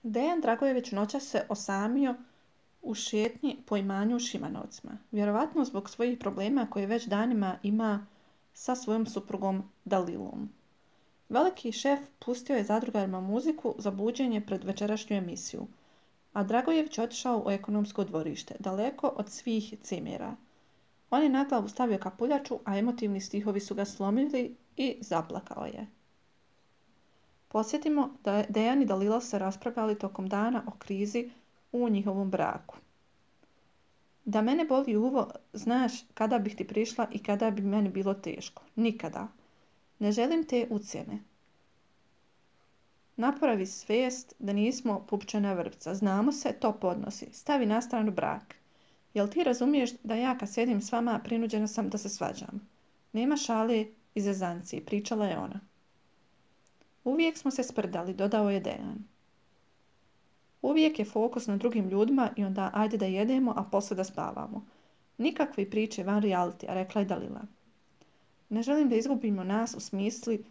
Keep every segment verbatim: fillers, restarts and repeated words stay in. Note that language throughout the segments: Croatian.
Dejan Dragojević noćas se osamio u šetnji po imanju u Šimanovcima, vjerovatno zbog svojih problema koje već danima ima sa svojom suprugom Dalilom. Veliki šef pustio je zadrugarima muziku za buđenje pred večerašnju emisiju, a Dragojević otišao u ekonomsko dvorište, daleko od svih cimera. On je na glavu stavio kapuljaču, a emotivni stihovi su ga slomili i zaplakao je. Podsjetimo da je Dejan i Dalila se raspravljali tokom dana o krizi u njihovom braku. Da mene boli uvo, znaš kada bih ti prišla i kada bi meni bilo teško. Nikada. Ne želim te ucjene. Napravi svijest da nismo pupčana vrpca. Znamo se, to podnosi. Stavi na stranu brak. Jel ti razumiješ da ja kad sjedim s vama prinuđena sam da se svađam? Nema šale i zezancije, pričala je ona. Uvijek smo se sprdali, dodao je Dejan. Uvijek je fokus na drugim ljudima i onda ajde da jedemo, a posle da spavamo. Nikakve priče van realitija, rekla je Dalila. Ne želim da izgubimo nas u smisli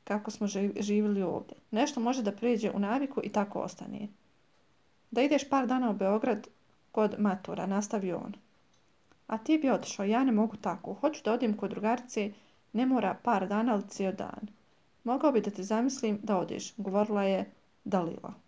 kako smo živjeli ovdje. Nešto može da pređe u naviku i tako ostane. Da ideš par dana u Beograd kod matura, nastavio on. A ti bi otišao, ja ne mogu tako. Hoću da odim kod drugarice, ne mora par dana, ali cijel dan. Mogao bi da te zamislim da odeš, govorila je Dalila.